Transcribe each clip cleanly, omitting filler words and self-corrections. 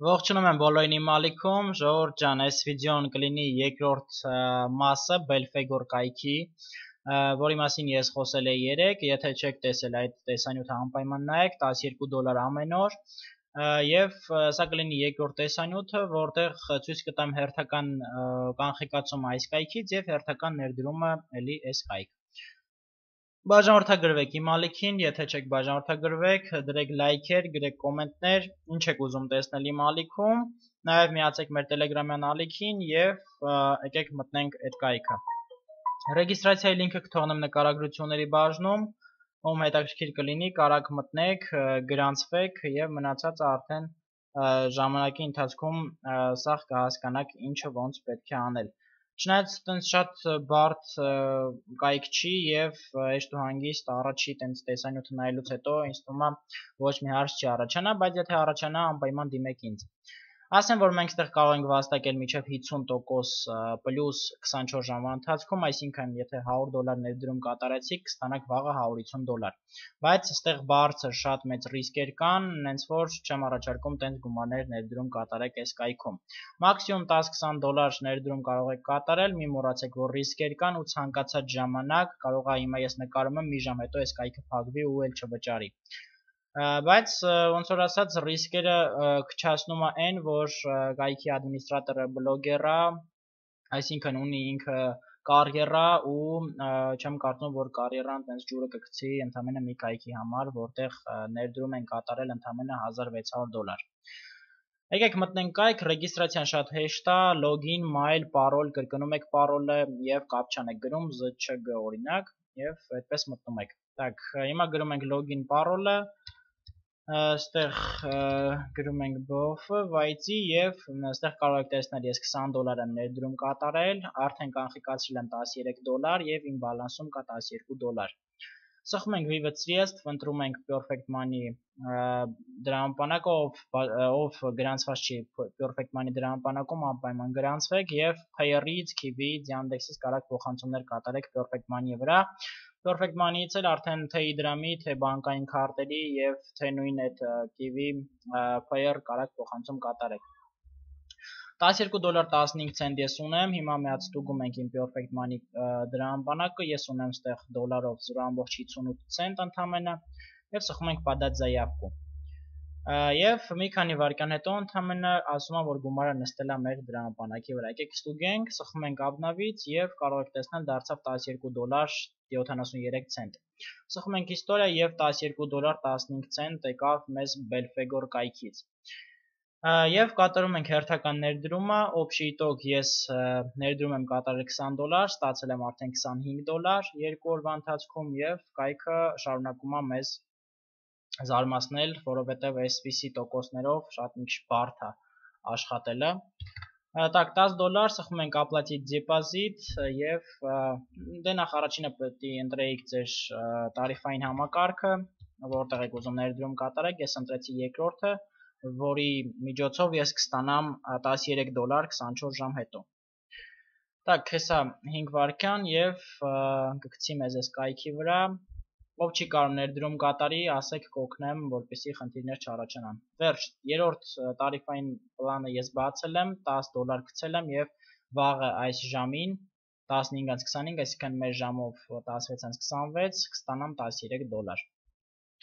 Ողջունում եմ բոլորին իմ ալիքում, Ժողովուրդ ջան, այս վիդեոն կլինի երկրորդ մասը Belphegor կայքի, որի մասին ես խոսել էի երեկ, եթե չեք տեսել այդ տեսանյութը անպայման նայեք, $12 ամեն օր, եւ սա կլինի երկրորդ տեսանյութը, որտեղ ցույց կտամ հերթական կանխիկացումը այս կայքից եւ հերթական ներդրումը էլի այս կայք։ Բաժանորդագրվեք իմ ալիքին, եթե չեք բաժանորդագրվեք, դրեք լայքեր, գրեք կոմենտներ, ինչ եք ուզում տեսնել իմ ալիքում, նաև միացեք մեր տելեգրամյան ալիքին եւ եկեք մտնենք այդ կայքը։ Ռեգիստրացիայի լինքը կթողնեմ նկարագրությունների բաժնում, ում հետաքրքիր կլինի, կարաք մտնեք, գրանցվեք եւ մնացածը արդեն ժամանակի ընթացքում սաղ կհասկանաք ինչը ոնց պետք է անել։ Չնայած տենց շատ բարդ կայք չի եւ հեշտ ու հանգիստ առաջի տենց տեսանյութը նայելուց հետո ինձ թվում է ոչ մի հարց չի առաջանա, բայց եթե առաջանա անպայման դիմեք ինձ։ Ասեմ, որ մենք այստեղ կարող ենք վաստակել մինչև 50% պլյուս 24 ժամվա ընթացքում, այսինքն եթե $100 ներդրում կատարեցիք, կստանաք վաղը $150։ Բայց այստեղ բարձր շատ մեծ ռիսկեր կան, հենց որ չեմ առաջարկում տենց գումարներ ներդրում կատարեք այս կայքում։ Մաքսիմում $10-20 ներդրում կարող եք կատարել, մի մոռացեք, որ ռիսկեր կան ու ցանկացած ժամանակ կարող է հիմա ես նկարում եմ, մի ժամ հետո այս կայքը փակվի ու էլ չվճարի։ Բայց ոնց որ ասած ռիսկերը քչացնում է այն, որ կայքի ադմինիստրատորը բլոգեր է, այսինքն ունի ինքը կարիերա ու չեմ կարծում, որ կարիերան տենց ջուրը կգցի ընդամենը մի կայքի համար, որտեղ ներդրում են կատարել ընդամենը $1600։ Եկեք մտնենք կայք, ռեգիստրացիան շատ հեշտ է, login, mail, parol, կրկնում եք parol-ը եւ կապչան եք գրում, ZÇG օրինակ, եւ այդպես մտնում եք։ Так, հիմա գրում ենք login parol-ը, այստեղ գրում ենք BOF-ը, վայցի եւ այստեղ կարող եք տեսնել ես $20 եմ ներդրում կատարել, արդեն կանխիկացրել եմ $13 եւ իմ բալանսում կա $12։ Սխում ենք Vivid Sredstv, ընտրում ենք Perfect Money դրամապանակը, ով գրանցված չի Perfect Money դրամապանակում, անպայման գրանցվեք եւ Payer-ից, Kiwi-ից, Yandex-ից կարաք փոխանցումներ կատարեք Perfect Money-ի վրա։ Perfect Money-ից էլ արդեն թե իդրամի, թե բանկային քարտերի եւ թե նույն այդ Kiwi Payer կարաք փոխանցում կատարեք։ $12.15 ցենտ ես ունեմ, հիմա միած ստուգում ենք իմ Perfect Money դրամապանակը, ես ունեմ ստեղ դոլարով 0.58 ցենտ ընդամենը եւ սխում ենք подать заявку։ Եվ մի քանի վայրկյան հետո ընդամենը ասում է, որ գումարը նստել է մեր դրամապանակի վրա։ Եկեք ստուգենք, սխում ենք обновить եւ կարող եք տեսնել դարձավ $12.73 ցենտ։ Սխում ենք իստորիա եւ $12.15 ցենտ եկավ մեզ Belphegor կայքից։ Եվ կատարում ենք հերթական ներդրումը, общий итог ես ներդրում եմ կատարել $20, ստացել եմ արդեն $25 երկու օրվա ընթացքում եւ կայքը շարունակում է մեզ զարմացնել, որովհետև այսպիսի տոկոսներով շատ մի քիչ բարդ է աշխատելը։ Так, $10 սխում ենք оплатить депозит եւ դե նախ առաջինը պետք է ընտրեիք ձեր տարիֆային համակարգը, որտեղ եք ուզում ներդրում կատարեք, ես ընտրեցի երկրորդը, որի միջոցով ես կստանամ $13 24 ժամ հետո։ Так, հեսա 5 վայրկյան եւ կգցի մեզ այս կայքի վրա։ Ով չի կարող ներդրում կատարի, ասեք կօգնեմ, որպեսզի խնդիրներ չառաջանան։ Վերջ, երրորդ տարիֆային պլանը ես բացել եմ, $10 գցել եմ եւ վաղը այս ժամին 15:25, այսինքն մեր ժամով 16:26 կստանամ $13։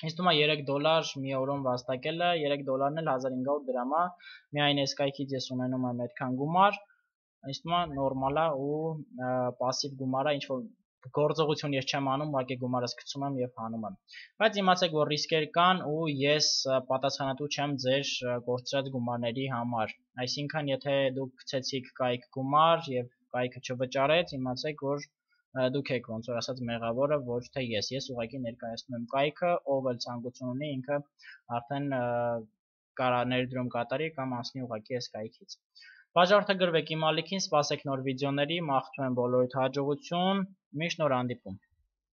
Ինձ թվում է $3 մի օրում վաստակելը, $3-ն էլ 1500 դրամ է, միայն այս կայքից ես ունենում եմ այդքան գումար, ինձ թվում է նորմալ է ու пассив գումար է, ինչ որ գործողություն ես չեմ անում, ուղղակի գումարս գցում եմ եւ հանում եմ։ Բայց իմացեք, որ ռիսկեր կան ու ես պատասխանատու չեմ ձեր կորցրած գումարների համար։ Այսինքն, եթե դուք գցեցիք կայք գումար եւ կայքը չվճարեց, իմացեք, որ դուք եք ոնց որ ասած մեղավորը, ոչ թե ես։ Ես ուղղակի ներկայացնում եմ կայքը, ով էլ ցանկություն ունի, ինքը արդեն կարա ներդրում կատարի կամ անցնի ուղղակի այս կայքից։ Բաժանորդագրվեք իմ ալիքին, սպասեք նոր վիդեոների, մաղթում եմ բոլորիդ հաջողություն, միշտ նոր հանդիպում։